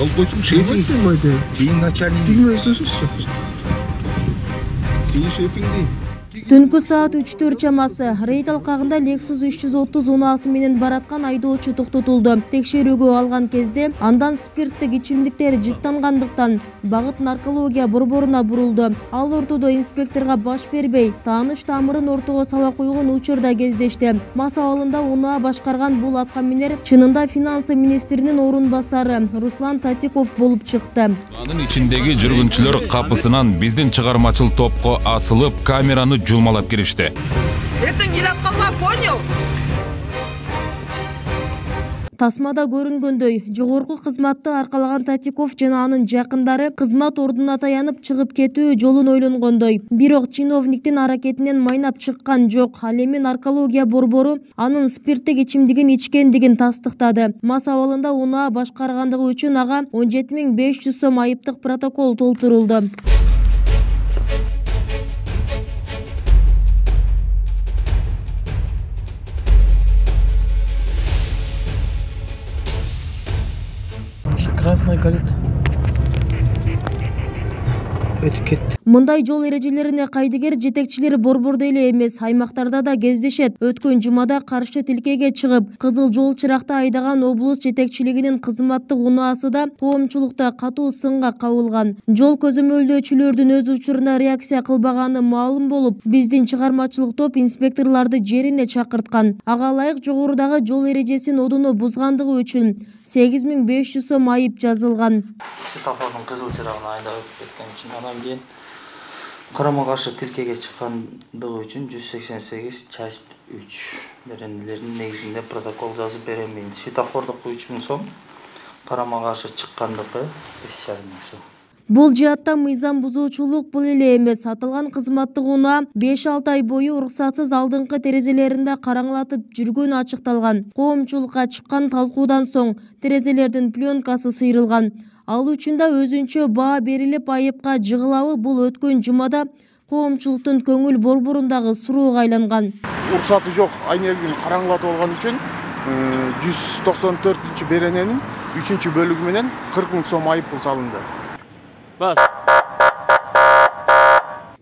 Ал койсуң шефиңди. Сенин начальник. Сенин шефиңди. Түнкү саат 3-4 чамасы рейд алкагында Lexus 330 унаасы менен бараткан айдоочу токтотулду. Текшерүүгө алган кезде андан спирттик ичимдиктер жыттангандыктан багыт наркология борборуна бурулду. Ал ортодо инспекторго баш бербей, тааныш тамырын ортого сала койгон учурда кездешти. Мас абалында унаа башкарган бул аткаминер чынында финансы министринин орун басары Руслан Татиков болуп чыкты. Анын ичиндеги жүргүнчүлөр капысынан биздин чыгармачыл топко асылып, камераны жумалап киришти. Эртең келип калма, понял? Тасмада көрүнгөндөй, жогорку кызматты аркалаган Татиков жана анын жакындары кызмат ордуна таянып чыгып кетүү жолун ойлонгондой. Бирок чиновниктин аракетинен майнап чыккан жок. Ал эми наркология борбору анын спирттик ичимдигин ичкендигин тастыктады. Мас абалында унаа башкаргандыгы үчүн ага 17.500 сом айыптык протокол толтурулду. Красный горит. Өтүп кетти. Мындай жол эрежелерине кайдыгер жетекчилери борбордо эле эмес, аймактарда да кездешет. Өткөн жумада каршы тилкеге чыгып, кызыл жол чыракта айдаган облус жетекчилигинин кызматтык унаасы да коомчулукта катуу сынга кабылган. Жол көзөмөлдөөчүлөрдүн өз учуруна реакция кылбаганы маалым болуп, биздин чыгармачылык топ инспекторлорду жерине чакырткан. Ага ылайык жогорудагы жол эрежесин одоно бузгандыгы үчүн 8.500 сом айып жазылган. Светофордун кызыл чырагына айдап өтүп кеткен үчүн, андан кийин карама каршы тилкеге чыккандыгы үчүн 188/3 беренелердин негизинде протокол жазып берем мен. Светофордук 3000 сом, карама каршы чыккандыгы 5,5 сом. Бул жаатта мыйзам бузуучулук бул эле эмес. Аталган кызматтык унаа 5-6 ай бою уруксатсыз алдыңкы терезелеринде караңлатып жүргөнү ачыкталган. Коомчулукка чыккан талкуудан соң терезелердин пленкасы сыйрылган. Ал үчүн да өзүнчө баа берилип, айыпка жыгылабы бул өткөн жумада коомчулуктун көңүл борборундагы суроога айланган. Уруксаты жок айнегин караңлатып алган үчүн 194 берененин 3-бөлүгү менен 40.000 сом айып салынды.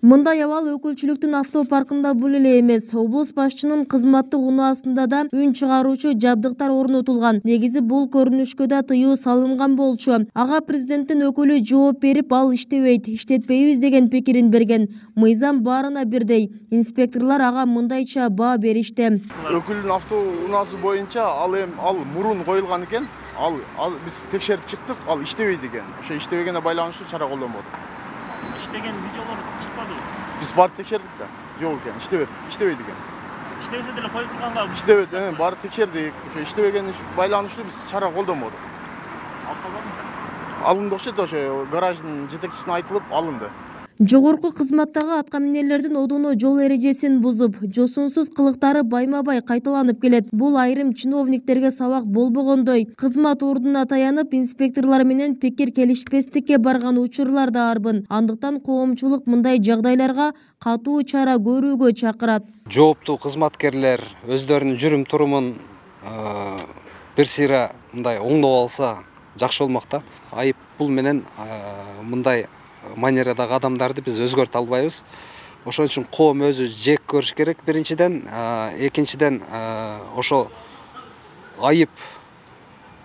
Мындай абал өкүлчүлүктүн автопаркында бул эле эмес. Облус башчынын кызматтык унаасында да үн чыгаруучу жабдыктар орнотулган. Негизи бул көрүнүшкө да тыюу салынган болчу. Ага президенттин өкүлү жооп берип, ал иштебейт, иштетпейбиз деген пикирин берген. Мыйзам баарына бирдей. Инспекторлор ага мындайча баа беришти. Өкүлдүн автоунаасы боюнча ал мурун коюлган экен. Ал биз текшерип чыктык, ал иштебейт экен. Ошо иштебегенге байланыштуу чара колдонбодук. İştegen videolar çıkmadı. Biz barıp tekşerdik de. Yok eкен, иштебейт экен. İştebese деле коюп турганга. İштебейт, барып tekşerdik. Ошо иштебегенге байланыштуу биз чара колдонбодук. Алынды окшойт, ошо гараждын жетекчисине айтылып алынды. Жогорку кызматтагы аткаминерлердин одоно жол эрежесин бузуп, жосунсуз кылыктары байма-бай кайталанып келет. Бул айрым чиновниктерге сабак болбогондой, кызмат ордуна таянып, инспекторлор менен пикир келишпестикке барган учурлар да арбын. Андыктан коомчулук мындай жагдайларга катуу чара көрүүгө чакырат. Жооптуу кызматкерлер өздөрүнүн жүрүм турумун бир сыйра мындай оңдоп алса жакшы болмок да. Айып пул менен мындай манерадагы адамдарды биз өзгөртө албайбыз. Ошон үчүн коом өзү жек көрүш керек биринчиден, экинчиден ошо айып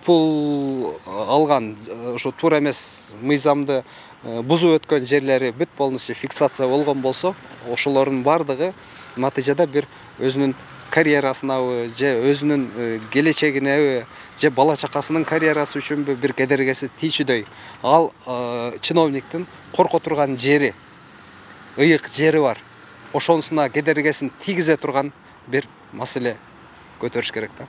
пул алган ошо туура эмес мыйзамды бузуп өткөн жерлери бүт полностью фиксация болгон болсо, ошолордун бардыгы натыйжада бир өзүнүн карьерасынабы же өзүнүн келечегинеби же бала чакасынын карьерасы үчүнбү бир кедергиси тийчүдөй. Ал чиновниктин корко турган жери, ыйык жери бар. Ошонусуна кедергисин тийгизе турган бир маселе көтөрүш керек да.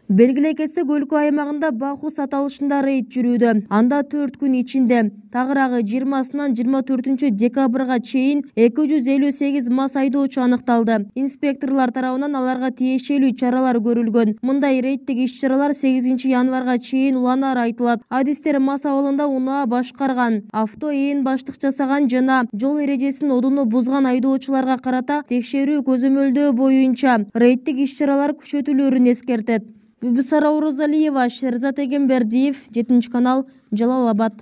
Белгилей кетсек, өлкө аймагында бахус аталышында рейд жүрүүдө. Анда 4 күн ичинде тагыраагы 20-сынан 24 декабрга чейин 258 мас айдоочу аныкталды. Инспекторлор тарабынан аларга тиешелүү чаралар көрүлгөн. Мындай рейдтик иш-чаралар 8 январга чейин уланары айтылат. Адистер мас абалында унаа башкарган, авто ээн баштык жасаган жана жол эрежесин одоно бузган айдоочуларга карата текшерүү көзөмөлдөө боюнча рейдтик иш-чаралар күчөтүлөрүн эскертет. Бибисара Орозалиева, Шерзат Эгембердиев, 7 канал, Жалал Абад.